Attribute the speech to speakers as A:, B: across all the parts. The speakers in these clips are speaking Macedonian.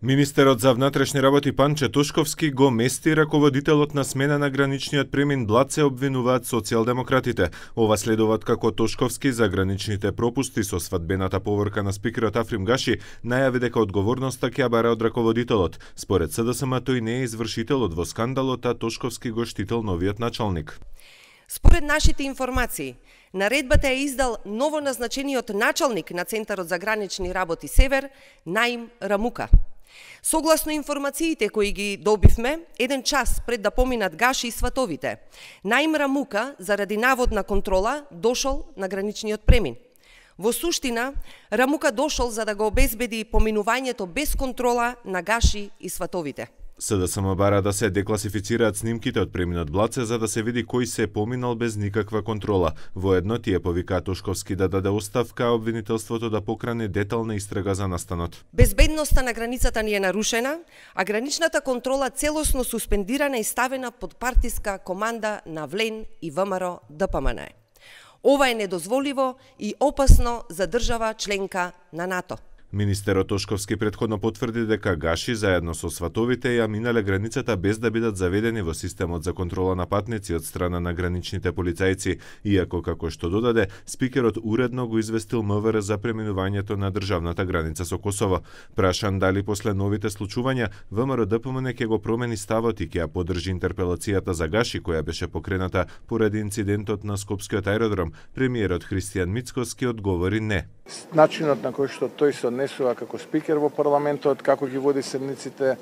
A: Министерот за внатрешни работи Панче Тошковски го мести раководителот на смена на граничниот премин Блаце, обвинуваат социјалдемократите. Ова следуваат како Тошковски за граничните пропусти со свадбената поворка на спикерот Африм Гаши најави дека одговорноста ќе ја бара од раководителот. Според СДСМ тој не е извршителот во скандалот, а Тошковски го штител новиот началник.
B: Според нашите информации, наредбата е издал новоназначениот началник на Центарот за гранични работи Север, Наим Рамука. Согласно информациите кои ги добивме, еден час пред да поминат Гаши и сватовите, Наим Рамука, заради наводна контрола, дошол на граничниот премин. Во суштина, Рамука дошол за да го обезбеди поминувањето без контрола на Гаши и сватовите.
A: СДСМ бара да се декласифицираат снимките од преминот Блаце за да се види кој се поминал без никаква контрола. Воедно тие повикаа Тошковски да даде оставка, а обвинителството да покране детална истрага за настанот.
B: Безбедноста на границата ни е нарушена, а граничната контрола целосно суспендирана и ставена под партиска команда на ВЛЕН и ВМРО ДПМН. Ова е недозволиво и опасно за држава членка на НАТО.
A: Министерот Тошковски претходно потврди дека Гаши заедно со сватовите ја минале границата без да бидат заведени во системот за контрола на патници од страна на граничните полицајци, иако како што додаде, спикерот уредно го известил МВР за преминувањето на државната граница со Косово. Прашан дали после новите случувања ВМРО ДПМН ќе го промени ставот и ќе ја поддржи интерпелацијата за Гаши која беше покрената поради инцидентот на Скопскиот аеродром, премиерот Христијан Мицкоски одговори не.
C: Начинот на кој што тој се однесува како спикер во парламентот, како ги води седниците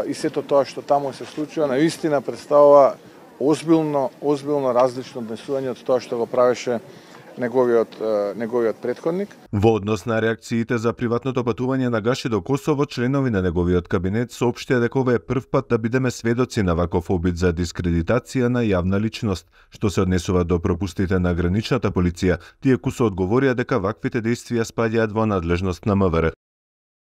C: и сето тоа што таму се случува, наистина представува озбилно различно однесување од тоа што го правеше неговиот претходник.
A: Во однос на реакциите за приватното патување на Гаши до Косово, членови на неговиот кабинет соопштија дека ова е прв пат да бидеме сведоци на ваков обид за дискредитација на јавна личност. Што се однесува до пропустите на граничната полиција, тие кусо одговорија дека ваквите действија спаѓаат во надлежност на МВР.